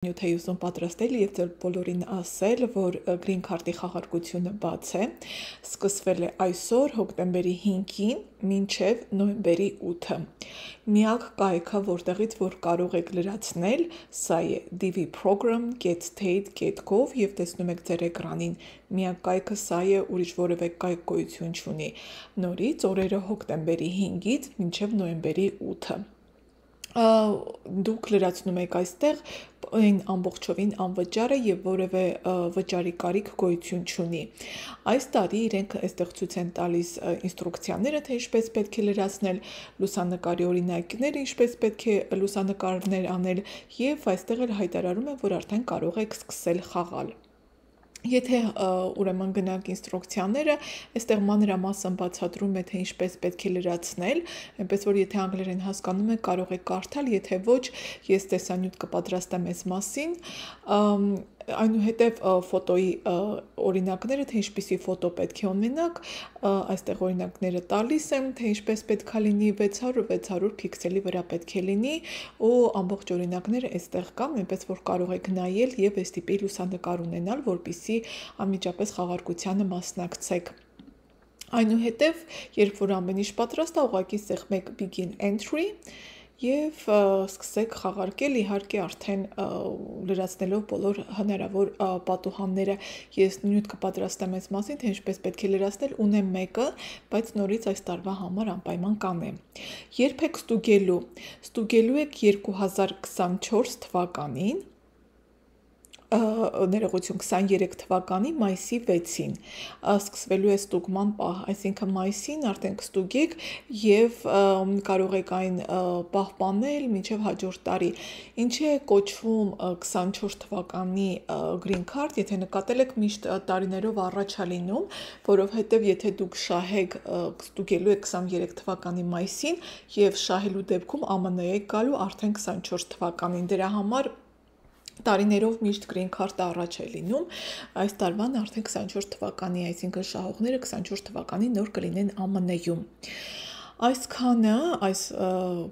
նյութ է ուզում պատրաստել եւ ձեր բոլորին ասել, որ Green Card-ի խաղարկությունը բաց է, սկսվել է այսօր հոկտեմբերի 5-ին մինչև նոյեմբերի 8-ը։ Միակ կայքը, որտեղից որ կարող եք լրացնել, սա է dvprogram.get.gov եւ տեսնում եք ձեր էկրանին։ Միակ կայքը սա է, ուրիշ որևէ կայք գոյություն չունի։ Նորից օրերը հոկտեմբերի 5-ից մինչև նոյեմբերի 8-ը։ Դուք լրացնում եք այստեղ այն ամբողջովին անվճար է եւ որևէ վճարի կարիք գոյություն չունի։ Այս տարի իրենք այստեղ ցույց են տալիս ինստրուկցիաները, թե ինչպես պետք է լրացնել, լուսանկարի օրինակները, ինչպես պետք է լուսանկարներ անել եւ այստեղ էլ հայտարարում են, որ արդեն կարող եք սկսել խաղալ։ Եթե ուրեմն գնանք ինստրուկցիաները, այստեղ մանրամասն բացատրում է, թե ինչպես պետք է լրացնել, այնպես որ եթե անգլերեն հասկանում եք, կարող եք կարդալ, եթե ոչ, ես տեսանյութ կպատրաստեմ այս մասին, այնուհետև ֆոտոյի օրինակները, թե ինչպիսի ֆոտո պետք է ունենաք, այստեղ օրինակները տալիս եմ, թե ինչպես պետք է լինի 600 փիքսելի վրա պետք է լինի ու ամբողջ օրինակները այստեղ կան, այնպես որ կարող եք նայել եւ այս տիպի լուսանկար ունենալ, որպեսզի անմիջապես խաղարկությանը մասնակցեք։ Այնուհետև, երբ որ ամեն ինչ պատրաստ է, ուղղակի սեղմեք begin entry եւ սկսեք խաղարկել, իհարկե արդեն լրացնելով բոլոր հնարավոր պատուհանները։ Ես նյութ կպատրաստեմ այս մասին, թե ինչպես պետք է լրացնել, ունեմ մեկը, բայց նորից այս տարվա համար անպայման կանեմ։ Երբ եք ստուգելու եք 2024 թվականին, ներողություն 23 թվականի մայիսի 6-ին սկսվելու է ստուգման պահ, այսինքն մայիսին արդեն կստուգեք եւ կարող եք այն պահպանել մինչեւ հաջորդ տարի։ Ինչի է կոչվում 24 թվականի Green Card, եթե նկատել եք միշտ տարիներով առաջ է լինում, որովհետեւ եթե դուք շահեք ստուգելու եք 23 թվականի մայիսին եւ շահելու դեպքում ԱՄՆ-ը եք գալու արդեն 24 թվականին, դրա համար տարիներով միշտ Green Card-ը առաջ է լինում, այս տարվան արդեն 24 թվականի, այսինքն շահողները 24 թվականի նոր կլինեն ԱՄՆ-ում։ Այսքանը այս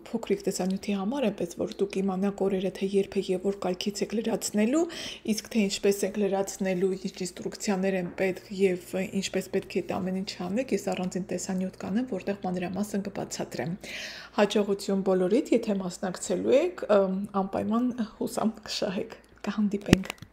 փոքրիկ տեսանյութի համար, այնպես որ դուք իմանաք օրերը, թե երբ եւ որ կայքից եք լրացնելու, իսկ թե ինչպես եք լրացնելու, ինչ ինստրուկցիաներ են պետք եւ ինչպես պետք է դա ամեն ինչ անեք, ես առանձին տեսանյութ կանեմ, որտեղ մանրամասն կբացատրեմ։ Հաջողություն բոլորիդ, եթե մասնակցելու եք, անպայման հուսամ կշահեք։ Կհանդիպենք։